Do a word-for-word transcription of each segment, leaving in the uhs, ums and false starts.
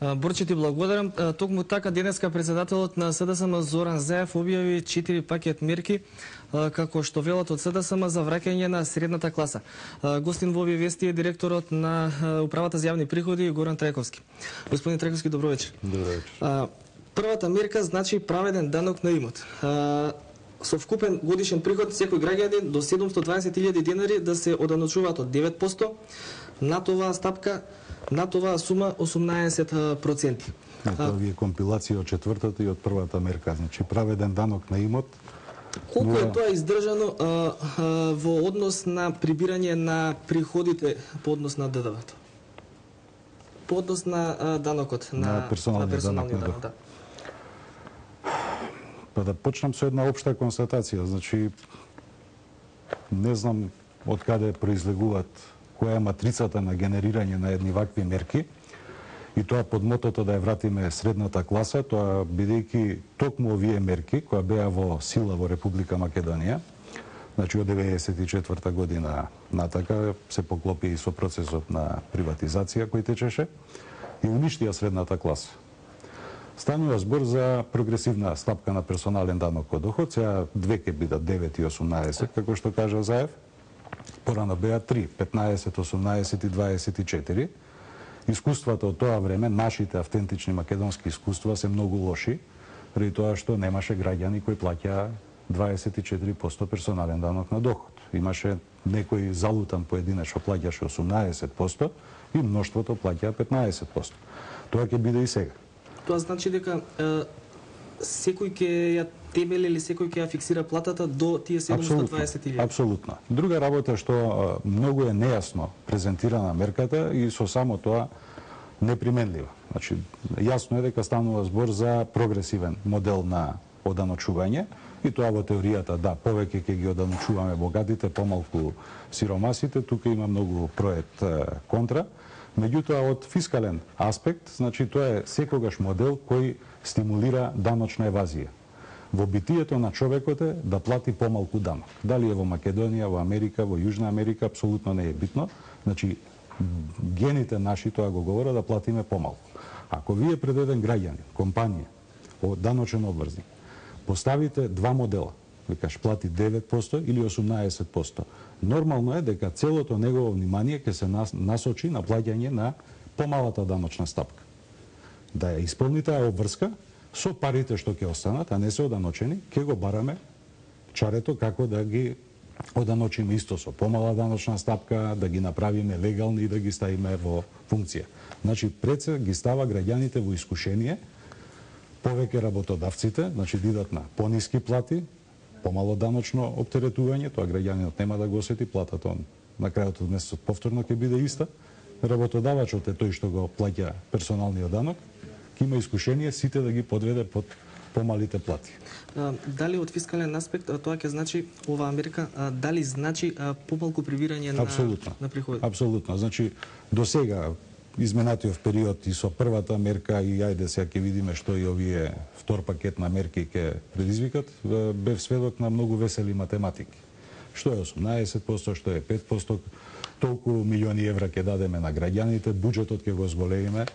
Борче, ти благодарам. Токму така денеска председателот на СДСМ Зоран Заев објави четири пакет мерки како што велат од СДСМ за враќање на средната класа. Гостин во овие вести е директорот на Управата за јавни приходи Горан Трајковски. Господин Трајковски, добро вечер. Добро вечер. Првата мерка значи праведен данок на имот. Со вкупен годишен приход секој граѓанин до седумстотини и дваесет илјади денари да се оданочуваат од девет проценти, на оваа стапка, на оваа сума осумнаесет проценти. Тоа ви е компилација од четвртата и од првата мерка, значи праведен данок на имот. Колку е тоа издржано а, а, во однос на прибирање на приходите по однос на ДДВ-то? По однос на а, данокот на, на персоналниот, на персоналниот данок, да. Па да почнам со една општа констатација, значи не знам од каде произлегуваат, која е матрицата на генерирање на едни вакви мерки, и тоа под мотото да ја вратиме средната класа, тоа бидејќи токму овие мерки, која беа во сила во Република Македонија, значи од деветдесет и четврта година натака, се поклопи и со процесот на приватизација кој течеше, и уништија средната класа. Станува збор за прогресивна стапка на персонален данок од доход, сега две ќе бидат девет и осумнаесет, како што кажа Заев, порано беа три, петнаесет, осумнаесет и дваесет и четири. Искуствата од тоа време, нашите автентични македонски искуства се многу лоши, преди тоа што немаше граѓани кои плаќаа дваесет и четири проценти персонален данок на доход. Имаше некој залутан поединец што плаќаше осумнаесет проценти и мноштвото плаќаа петнаесет проценти. Тоа ќе биде и сега. Тоа значи дека е, секој ќе ја темели или секој ќе ја фиксира платата до тие седумстотини и дваесет илјади. Апсолутно. Друга работа што многу е нејасно презентирана мерката и со само тоа неприменлива. Значи, јасно е дека станува збор за прогресивен модел на оданочување и тоа во теоријата, да, повеќе ќе ги оданочуваме богатите, помалку сиромасите, тука има многу проект контра. Меѓутоа, од фискален аспект, значи тоа е секогаш модел кој стимулира даночна евазија. Во битието на човекот е да плати помалку данок. Дали е во Македонија, во Америка, во Јужна Америка, апсолутно не е битно. Значи, гените наши тоа го говорат да платиме помалку. Ако вие пред еден граѓанин, компанија, даночен обврзник, поставите два модела, викаш плати девет проценти или осумнаесет проценти, нормално е дека целото негово внимание ќе се насочи на плаќање на помалата даночна стапка. Да ја исполни таа обврска со парите што ќе останат, а не се оданочени, ќе го бараме чарето како да ги оданочиме исто со помала даночна стапка, да ги направиме легални и да ги ставиме во функција. Значи, пред се ги става граѓаните во искушение, повеќе работодавците, значи да идат на пониски плати, помало даночно оптеретување, тоа граѓанинот нема да го осети, платата на крајот од месецот повторно ќе биде иста. Работодавачот е тој што го плаќа персоналниот данок, ќе има искушение сите да ги подведе под помалите плати. А, дали од фискален аспект тоа ќе значи оваа мерка, а, дали значи а, помалку прибирање на Апсолутно. на приходи? Апсолутно. Значи до сега изминатиот период и со првата мерка и ајде сега ќе видиме што и овие втор пакет на мерки ќе предизвикат, бев сведок на многу весели математики. Што е осумнаесет проценти, што е пет проценти, толку милиони евра ќе дадеме на граѓаните, буџетот ќе го зголемиме.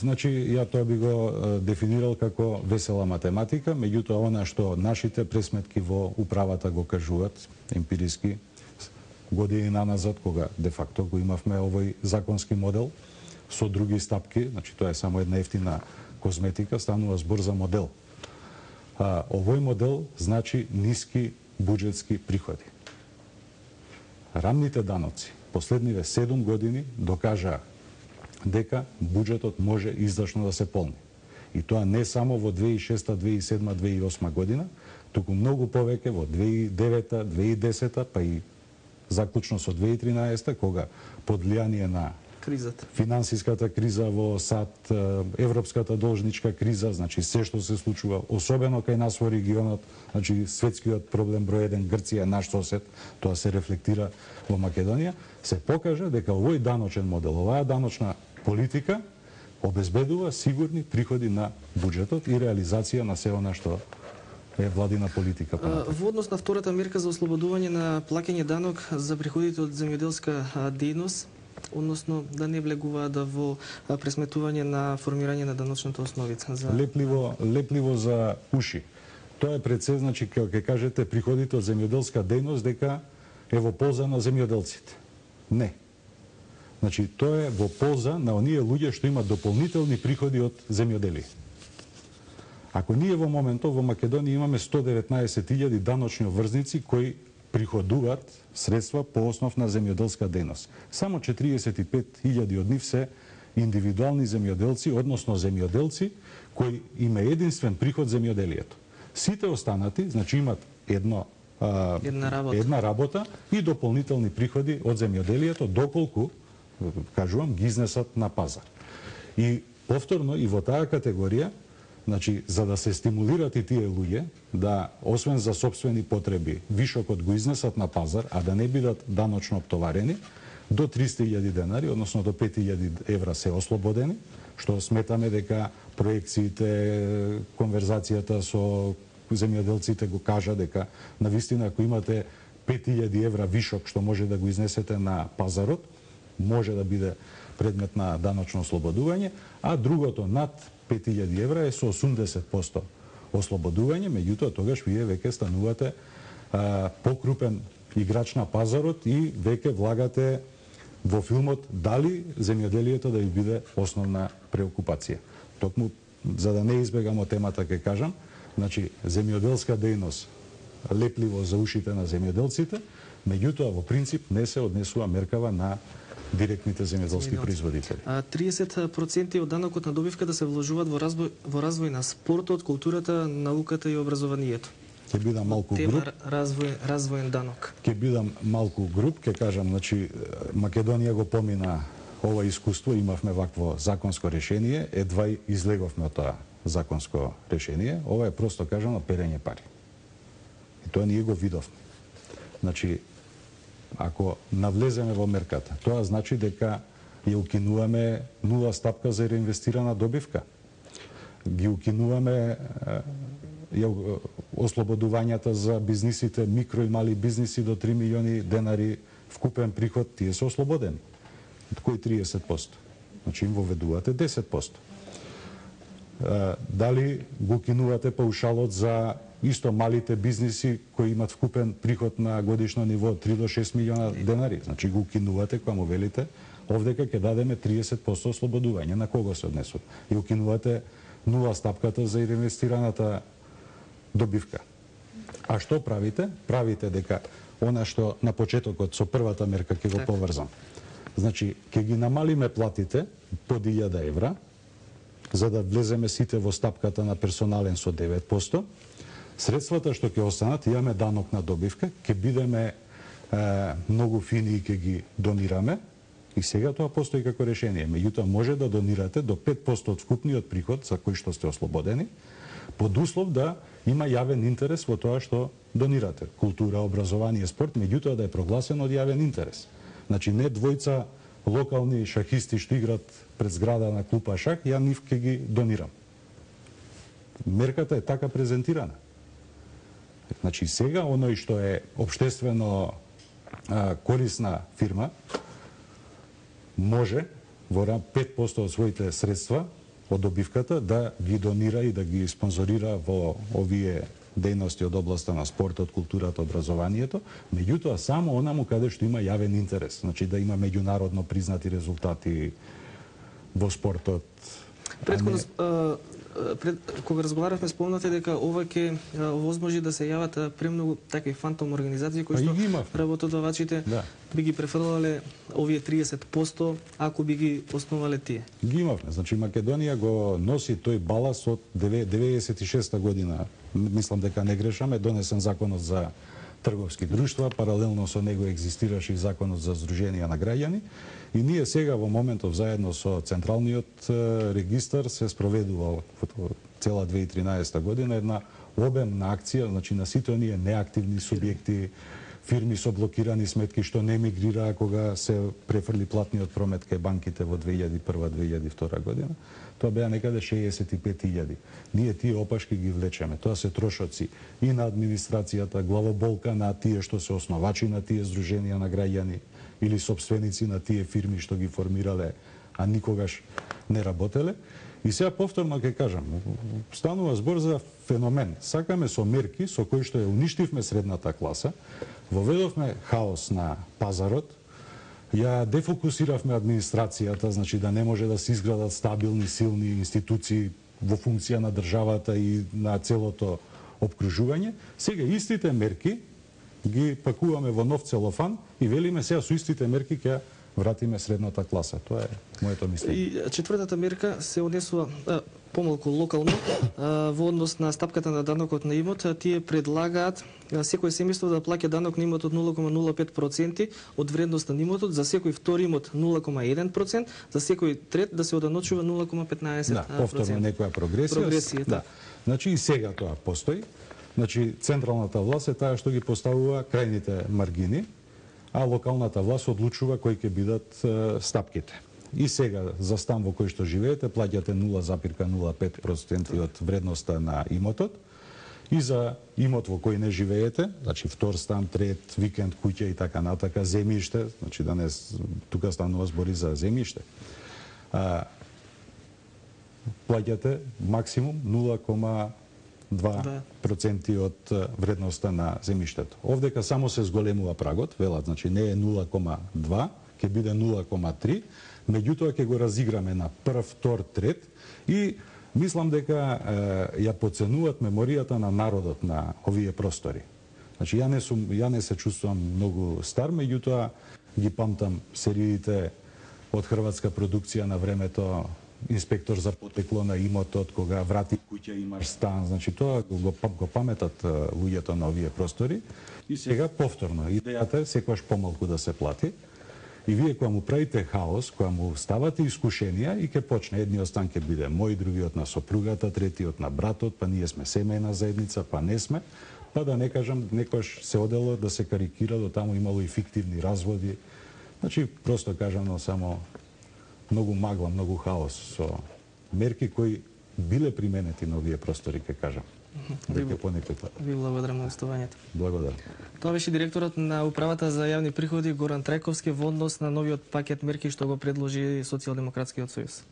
Значи, ја тоа би го дефинирал како весела математика, меѓутоа она што нашите пресметки во управата го кажуваат емпириски години назад, кога де факто го имавме овој законски модел со други стапки, значи тоа е само една ефтина козметика, станува збор за модел. А, овој модел значи ниски буџетски приходи. Рамните даноци последниве седум години докажаа дека буџетот може издашно да се полни. И тоа не само во две илјади и шеста, две илјади и седма, две илјади и осма година, туку многу повеќе во две илјади и девета, две илјади и десета, па и заклучно со две илјади и тринаесета, кога под влијание на кризата, финансиската криза во САД, европската должничка криза, значи се што се случува, особено кај нас во регионот, значи светскиот проблем број еден, Грција, наш сосед, тоа се рефлектира во Македонија, се покажа дека овој даночен модел, оваа даночна политика обезбедува сигурни приходи на буџетот и реализација на се она што е владина политика. Во однос на втората мерка за ослободување на плаќање данок за приходите од земјоделска дејност, односно да не влегуваат да во пресметување на формирање на даночната основица за лепливо лепливо за уши. Тоа е пред се, значи кога ќе кажете приходите од земјоделска дејност дека е во полза на земјоделците. Не. Значи тоа е во полза на оние луѓе што имаат дополнителни приходи од земјоделие. Ако ние во моментов во Македонија имаме сто деветнаесет илјади даночни обврзници кои приходуваат средства по основ на земјоделска дејност. Само четириесет и пет илјади од нив се индивидуални земјоделци, односно земјоделци кои има единствен приход земјоделието. Сите останати, значи имат едно а, една работа. една работа и дополнителни приходи од земјоделието доколку, кажувам, ги изнесат на пазар. И повторно и во таа категорија, значи, за да се стимулират и тие луѓе, да, освен за сопствени потреби, вишокот го изнесат на пазар, а да не бидат даночно оптоварени, до триста илјади денари, односно до пет илјади евра се ослободени, што сметаме дека проекциите, конверзацијата со земјоделците го кажа дека навистина ако имате пет илјади евра вишок што може да го изнесете на пазарот, може да биде предмет на даночно ослободување, а другото над пет илјади евра е со осумдесет проценти ослободување, меѓутоа тогаш вие веќе станувате а, покрупен играч на пазарот и веќе влагате во филмот дали земјоделието да ви биде основна преокупација. Токму за да не избегамо темата ќе кажам, значи земјоделска дејност лепливо за ушите на земјоделците, меѓутоа во принцип не се однесува меркава на директните земјоделски производители. А триесет проценти од данокот на добивка да се вложуваат во развој во развој на спортот, културата, науката и образованието. Ќе бидам малку Тема груб. развој развоен данок. Ќе бидам малку груб, ќе кажам, значи Македонија го помина ова искуство, имавме вакво законско решение, едва излеговме од тоа законско решение. Ова е просто кажано перење пари. И тоа ние го видовме. Значи, ако навлеземе во мерката, тоа значи дека ја укинуваме нула стапка за реинвестирана добивка. Ги укинуваме ја, ослободувањата за бизнисите, микро и мали бизниси до три милиони денари вкупен приход, тие се ослободени. Кој триесет проценти? Значи им воведувате десет проценти. Дали го укинувате паушалот за исто малите бизниси кои имат вкупен приход на годишно ниво три до шест милиона денари. Значи го укинувате кога му велите овдека ќе дадеме триесет проценти ослободување. На кого се однесува? И укинувате нула стапката за реинвестираната добивка. А што правите? Правите дека она што на почетокот со првата мерка ќе го поврзам. Значи, ќе ги намалиме платите под илјада евра, за да влеземе сите во стапката на персонален со девет проценти. Средствата што ќе останат, имаме данок на добивка, ќе бидеме е, многу фини и ќе ги донираме. И сега тоа постои како решение. Меѓутоа може да донирате до пет проценти од вкупниот приход за кој што сте ослободени, под услов да има јавен интерес во тоа што донирате. Култура, образование, спорт, меѓутоа да е прогласен од јавен интерес. Значи не двојца локални шахисти што играт пред зграда на клупа шах, ја нив ќе ги донирам. Мерката е така презентирана. Значи сега оној што е општествено а, корисна фирма може во пет проценти од своите средства од добивката да ги донира и да ги спонзорира во овие дејности од областа на спортот, културата, образованието, меѓутоа само онаму каде што има јавен интерес, значи да има меѓународно признати резултати во спортот. Претходно не... пред, кога разговаравме спомнате дека ова ќе возможи да се јават премногу такви фантом организации кои што работодавачите да. би ги префрлале овие триесет проценти ако би ги основале тие. Ги имавме. Значи Македонија го носи тој балас од деветдесет и шеста година. Мислам дека не грешаме, донесен законот за трговски друштва, паралелно со него екзистираше и законот за здруженија на граѓани. И ние сега во моментов заедно со Централниот регистар се спроведува во цела две илјади и тринаесета година една обемна акција, значи на сите оние неактивни субјекти, фирми со блокирани сметки што не мигрираа кога се префрли платниот промет кај банките во две илјади и прва - две илјади и втора година. Тоа беа некаде шеесет и пет илјади. Ние тие опашки ги влечеме. Тоа се трошоци и на администрацијата, главоболка на тие што се основачи на тие здруженија на граѓани или собственици на тие фирми што ги формирале, а никогаш не работеле. И сега повторно ќе кажам, станува збор за феномен. Сакаме со мерки со кои што ја уништивме средната класа, воведовме хаос на пазарот, ја дефокусиравме администрацијата, значи да не може да се изградат стабилни, силни институции во функција на државата и на целото обкружување. Сега истите мерки ги пакуваме во нов целофан и велиме сега со истите мерки ќе вратиме средната класа. Тоа е моето мислење. И четвртата мерка се однесува а, помалку локално а, во однос на стапката на данокот на имот. Тие предлагаат а, секој семејство да плаќа данок на имотот нула кома нула пет проценти од вредноста на имотот, за секој втори имот нула кома еден процент, за секој трет да се оданочува нула кома петнаесет проценти. Да, повторно некоја прогресија. Прогресија, да. Значи и сега тоа постои. Значи централната власт е таа што ги поставува крајните маргини, а локалната власт одлучува кои ќе бидат е, стапките. И сега за стан во кој што живеете плаќате нула зарез нула пет проценти од вредноста на имотот, и за имот во кој не живеете, значи втор стан, трет, викенд, куќа и така натака, земјиште, значи да не тука станува збори за земјиште. А, плаќате максимум нула кома два проценти од вредноста на земјиштето. Овдека само се зголемува прагот, велат, значи не е нула кома два, ќе биде нула кома три, меѓутоа ќе го разиграме на прв, втор, трет и мислам дека е, ја поценуваат меморијата на народот на овие простори. Значи ја не сум, ја не се чувствувам многу стар, меѓутоа ги памтам сериите од хрватска продукција на времето, инспектор за потекло на имотот, кога врати куќа имаш стан, значи тоа го, го паметат луѓето на овие простори. И сега повторно, идејата е секогаш помалку да се плати. И вие кога му правите хаос, кога му ставате искушенија и ќе почне едниот стан ќе биде мој, другиот на сопругата, третиот на братот, па ние сме семејна заедница, па не сме, па да не кажам, некош се одело да се карикира, до таму имало и фиктивни разводи. Значи, просто кажано само многу магла, многу хаос со мерки кои биле применети на овие простори, ке кажам. Веќе по некој пат. Ви благодарам на гостувањето. Благодарам. Тоа беше директорот на Управата за јавни приходи Горан Трајковски во однос на новиот пакет мерки што го предложи Социјалдемократскиот сојуз.